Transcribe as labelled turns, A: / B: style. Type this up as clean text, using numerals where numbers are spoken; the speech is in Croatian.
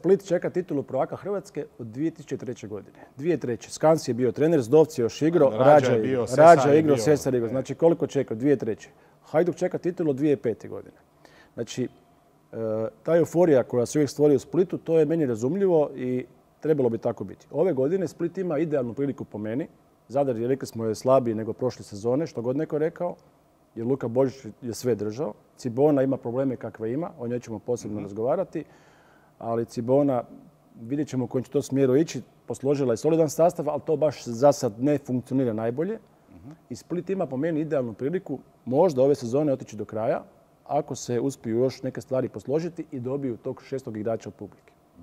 A: Split čeka titulu prvaka Hrvatske od 2003. godine. 2003. Skans je bio trener, Zdovci je još igrao, Rađa je igrao, Sesar je igrao. Znači koliko čeka? 2003. Hajduk čeka titulu od 2005. godine. Znači, ta euforija koja se uvijek stvori u Splitu, to je meni razumljivo i trebalo bi tako biti. Ove godine Split ima idealnu priliku po meni. Zadar je, rekli smo, je slabiji nego prošle sezone, što god neko rekao, jer Luka Božić je sve držao. Cibona ima probleme kakve ima, o njoj ćemo posebno razgovarati, ali Cibona, vidjet ćemo u kojem će to smjeru ići, posložila je solidan sastav, ali to baš za sad ne funkcionira najbolje. I Split ima po meni idealnu priliku možda ove sezone otići do kraja, ako se uspiju još neke stvari posložiti i dobiju tog 6. igrača od publike.